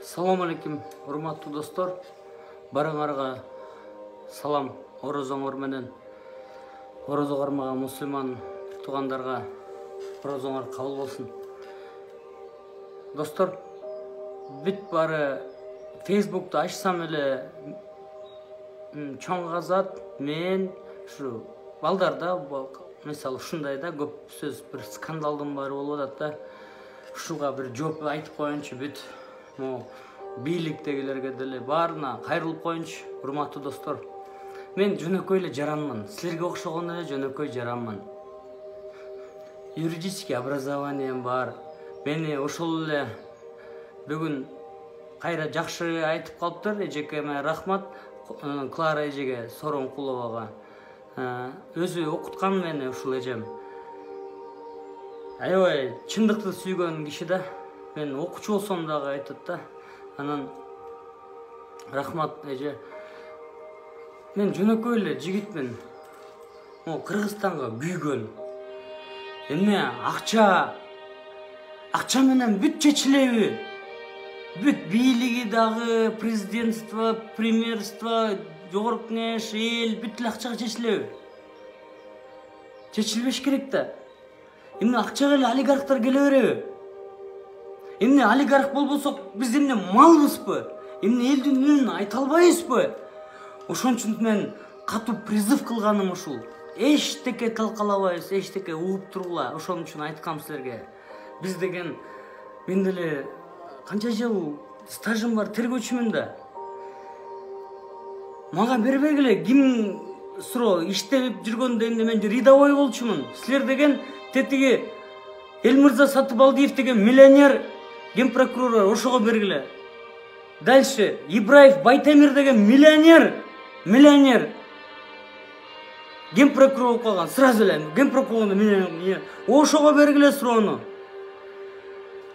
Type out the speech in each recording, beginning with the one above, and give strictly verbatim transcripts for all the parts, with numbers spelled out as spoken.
Салам алейкум, урматтуу достор. Барыңарга салам. Орозоңор менен орозо кармаган мусулман туугандарга орозоңор кабыл болсун. Достор, бүт бары Facebook'та ачсам эле чоң казат, мен ушу балдарда мисалы ушундай да көп сөз бир скандалдын баары болуп атат да. Ушуга бир жооп айтып коеюнчу бүт могу бийликтегилерге деле баарына кайрылып коеюнчу. Урматтуу достор, мен жөнөкөй эле жаранмын. Силерге окшогон эле жөнөкөй жаранмын. Юридический образованием бар. Мени ошол эле бүгүн кайра жакшы айтып калыптыр. Эжекеме рахмат, Клара эжеге, Сооронкуловага. Өзү окуткан мени ушул эжем. Аябай чындыкты сүйгөн киши да. Мен окуучу болсом дагы айтат да. Анан рахмат эже. Мен жөнөкөй эле жигитмин. Могу Кыргызстанга күйгөн. Эмне акча акча менен бүт чечилеби? Бүт бийлиги дагы, президентство, премьерство, жогорку кеңеш, эл бүт эле акчага чечилеби? Чечилбеш керек да. Эмне акчага эле олигархтар келе береби? Эмне олигарх болбосок биз эмне малбызбы? Эмне элдин үнүн айта албайбызбы? Ошон үчүн мен катуу призыв кылганым ушул. Эчтеке талкалабайбыз, эчтеке угуп тургула. Ошон үчүн айткам силерге. Биз деген мен деле канча жыл стажым бар, тергөөчүмүн да. Мага бербегиле, ким суроо иштеп жүргөндө эмне мен рядовой болчумун. Силер деген тетиги Элмырза Сатыбалдиев деген миллионер генпрокурор, ошого бергиле. Дальше Ибраев Байтемир деген миллионер, миллионер генпрокурор болуп калган. Сразу эле генпрокурордун миллионер. Ошого бергиле суроону.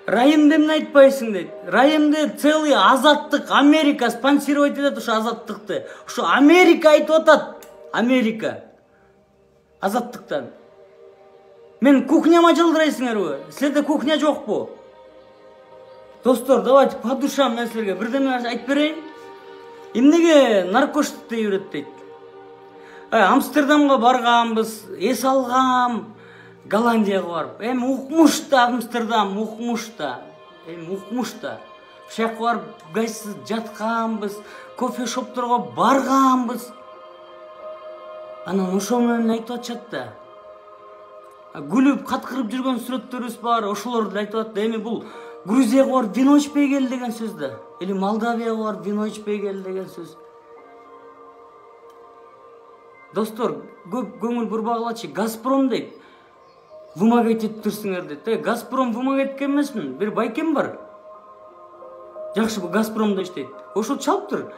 Райымды эмне айтпайсың дейт. Райымды целый Азаттык, Америка спонсировать этет ушу Азаттыкты. Ушу Америка айтып атат. Америка. Азаттыктан. Мен кухняма жылдырайсыңарбы? Силерде кухня жокпу? Достор, давайте по душам мен силерге бирдеме айтып берейин. Эмнеге наркотик дей берет дейт. Амстердамга барганбыз, эс алгам. Голландияга барып, эми укмуш да Амстердам, укмуш да. Эми укмуш да. Ушакка барып гайсыз жатканбыз, кофе-шопторго барганбыз. Анан ошол менен айтып атышат да. Күлүп, каткырып жүргөн сүрөттөрүбүз бар, ошолорду айтып атат да. Эми бул Грузияга барып вино ичпей кел деген сөз да. Или Молдавияга барып вино ичпей кел деген сөз. Достор, көп көңүл бурбагылачы. Газпром дейт. Вымогать этип турсуңар дейт. Газпром вымогать эткен эмесмин. Бир байкем бар. Жакшы, бул Газпромдо иштейт. Ошол чалыптыр.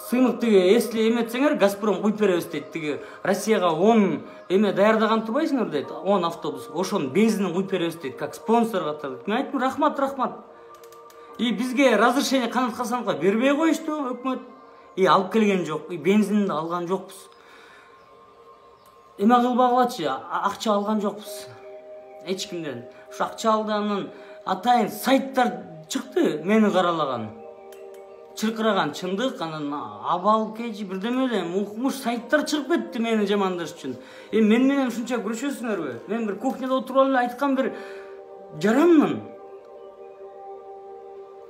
Сыймык тиги, если эметсеңер, Газпром куйуп беребиз дейт. Тиги Россияга он эме даярдаган турбайсыңар дейт. он автобус. Ошонун бензинин куйуп беребиз дейт. Как спонсор катары. Мен айттым, рахмат, рахмат. И бизге разрешение Канат Хасановго бербей коюшту өкмөт. И алып келген жок. И бензинди алган жокпуз. Эме кылбагылачы, акча алган жокпуз. Эч кимден. Ушу акча алганын атайын сайттар чыкты, мени каралаган. Чыркыраган чындык, анан абал кежи бирдеме эле укмуш сайттар чыгып кетти мени жамандаш үчүн. Эми мен менен ушунча күрөшөсүңөрбү? Мен бир кухняда отуруп эле айткан бир жаранмын.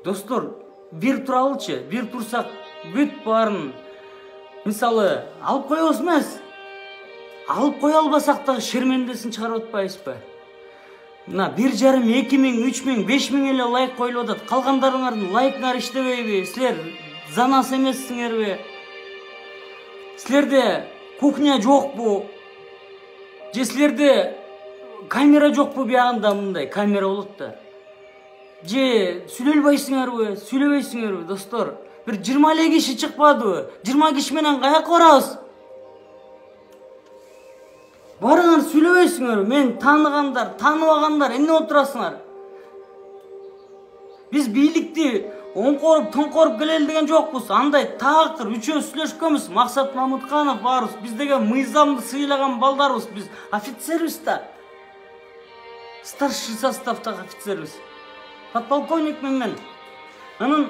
Достор, бир туралычы, бир турсак бүт баарын мисалы алып коебуз эмес. Алып кое албасак дагы шермендесин чыгарып атпайбызбы? Мына бир жарым, эки миң, үч миң, беш миң эле лайк коюлуп атат. Калгандарыңардын лайктары иштебейби? Силер занас эмессиңерби? Силерде кухня жокпу? Же силерде камера жокпу? Биягында мындай камера болот да. Же сүйлөй албайсыңарбы? Сүйлөбөйсүңөрбү, достор? Бир жыйырма эле киши чыкпадыбы? жыйырма киши менен каяка барабыз? Барыңар сүйлөбөйсүңөр, мен тааныгандар, тааныбагандар, эмне отурасыңар? Биз бийликти оңкоруп, тоңкоруп келели деген жокпуз. Андай таакыр үчөөбүз сүйлөшкөнбүз. Максат Мамытканов барбыз. Биз деген мыйзамды сыйлаган балдарбыз. Биз офицербиз да. Старший составдагы офицербиз. подполковник мен. Анан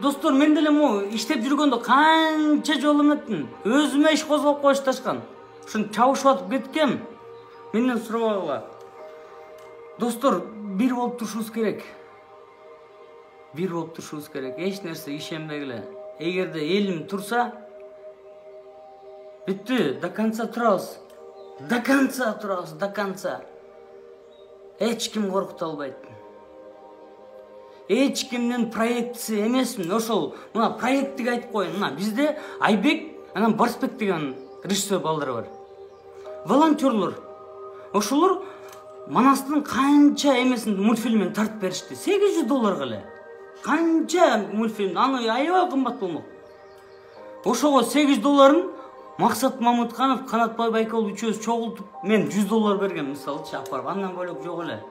достор, мен деле му иштеп жүргөндө канча жолу эметтим. Өзүмө иш козгоп коюшташкан. Ушун чабышып атып кеткем. Менден сурабагыла. Достор, бир болуп турушубуз керек. Бир болуп турушубуз керек. Эч нерсе ишенбегиле. Эгерде элим турса, бүттү, до конца турабыз. До конца турабыз, до конца. Эч ким коркута албайт. Эч кимдин проектиси эмесмин. Ошол мына проекттиги айтып коеюн. Мына бизде Айбек, анан Барсбек деген режиссер балдар бар. Волонтерлор. Ошолор Манастын канча эмесин мультфильмин тартып беришти. сегиз жүз долларга эле. Канча мультфильм, аны аябай кымбат болмок. Ошого сегиз долларын Максат Мамытканов, Канатбай Байкалов үчөөбүз чогултуп, мен жүз доллар берген мисалчы апарып, андан бөлөк жок эле.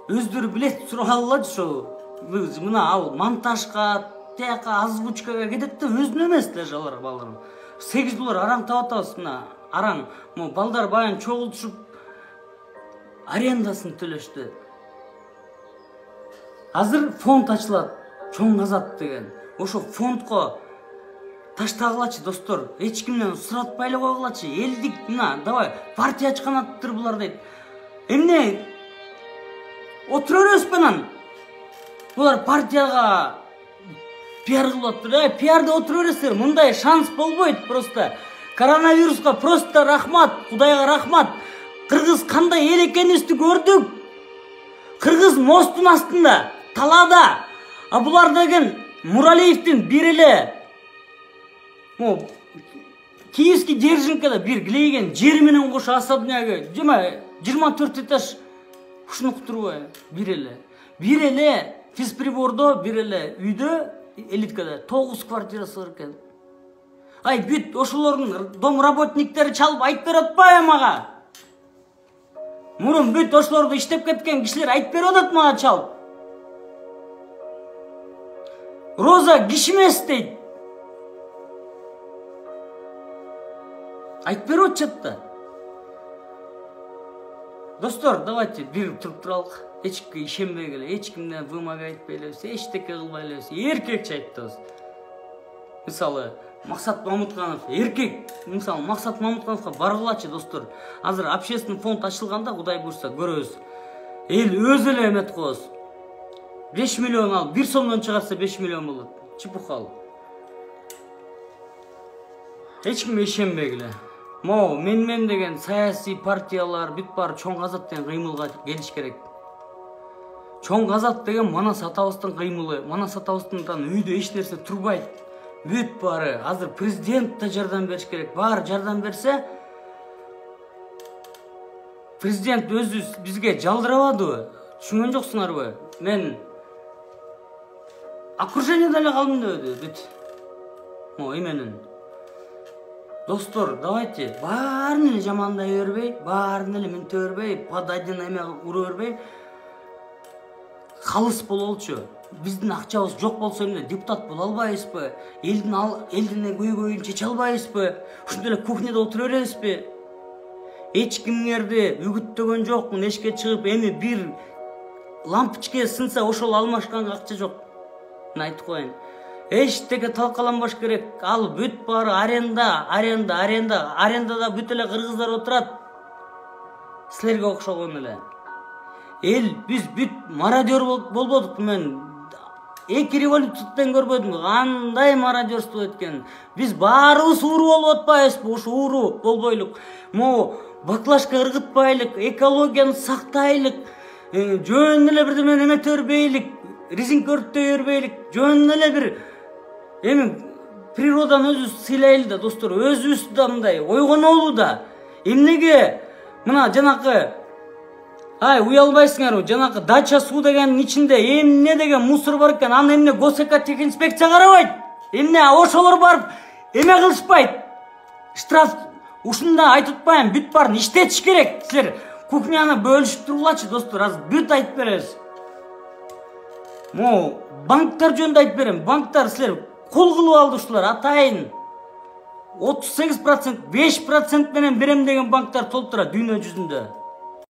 Өздөрү билет суралалачы ошо. Мына ал монтажга, тияка озвучкага кетет да, өзүнө эмес даже алар балдар. сегиз доллар араң таап атабыз мына. Араң, му балдар баян чогултушуп арендасын төлөштү. Азыр фонд ачылат, Чоң Азат деген. Ошо фондко таштагылачы достор, эч кимден суратпай эле койгулачы. Элдик мына, давай партия ачкан аттыр булар дейт. Эмне отура бересизби анан? Булар партияга пиар кылып атты. Э, пиарда отура бересиздер. Мындай шанс болбойт просто. Коронавируска просто рахмат, Кудайга рахмат. Кыргыз кандай эл экенибизди көрдүк. Кыргыз мостун астында, талаада. А булар деген Муралиевдин бир эле Мо Киевский Держинкада бир глейген жер менен кошо особнягы жыйырма төрт этаж ушуну кутурбай бир эле. Бир эле физприбордо, бир эле үйдө, элиткада тогуз квартирасы бар экен. Ай бүт ошолордун дом работниктери чалып айтып берип атпайбы мага? Мурун бүт ошолордо иштеп кеткен кишилер айтып берип атат мага чалып. Роза кишимес дейт. Айтып берип атышат да. Достор, давайте бир туруп туралык. Эчкимге ишенбегиле, эч кимден вымога айтпай элебиз, эчтеке кылбай элебиз. Эркекче айтабыз. Мисалы, Максат Мамытканов эркек. Мисалы, Максат Мамыткановго баргылачы достор. Азыр общественный фонд ачылганда, Кудай буйрса, көрөбүз. Эл өзү эле эмет коебуз. беш миллион ал, бир сомдон чыгарса беш миллион болот. Чепухал. Эч кимге ишенбегиле. Мо мен-мен деген саясий партиялар бүт баары Чоң Азат деген кыймылга келиш керек. Чоң Азат деген Манас атабыздын кыймылы. Манас атабыздын үйдө эч нерсе турбайт. Бүт баары азыр президент да жардам бериш керек. Баары жардам берсе, президент өзү бизге жалдырабадыбы? Түшүнгөн жоксуңарбы? Мен окружениеде эле калдым дебеди бүт. Мо эменин. Достор, давайте баарын эле жамандай бербей, баарын эле минте бербей, под один эме ура бербей, калыс бололчу. Биздин акчабыз жок болсо эмне, депутат боло албайбызбы? Элдин ал элдин көйгөйүн чече албайбызбы? Ушундай эле кухняда отура беребизби? Эч кимдерди үгүттөгөн жокмун, эшикке чыгып, эми бир лампочка сынса ошол алмашканга акча жок. Мен айтып коеюн. Эчтеке талкаланбаш керек. Ал бүт баары аренда, аренда, аренда, арендада бүт эле кыргыздар отурат. Силерге окшогон эле. Эл биз бүт мародер болбодук. Мен эки революциядан көрбөдүм. Кандай мародерство эткенин. Биз баарыбыз ууру болуп атпайбызбы? Ушу ууру болбойлук. Могу баклажка ыргытпайлык, экологияны сактайлык, жөн эле бирдеме эмете бербейлик, резинка өрттөй бербейлик, жөн эле бир эми природаны өзүбүз сыйлайлы да, достор, өзүбүз да мындай ойгонолу да. Эмнеге мына жанакы ай уялбайсыңарбы? Жанакы дача суу дегенин ичинде эмне деген мусор бар экен, аны эмне госэкотехинспекция карабайт? Эмне ошолор барып эме кылышпайт? Штраф ушунда айтып атпайм, бүт баарын иштетиш керек. Силер кухняны бөлүшүп тургулачы, достор, азыр бүт айтып беребиз. Мо банктар жөнүндө айтып берем. Банктар силер кол кылып алды ушулар, атайын. отуз сегиз процент, беш процент менен берем деген банктар толтура дүйнө жүзүндө.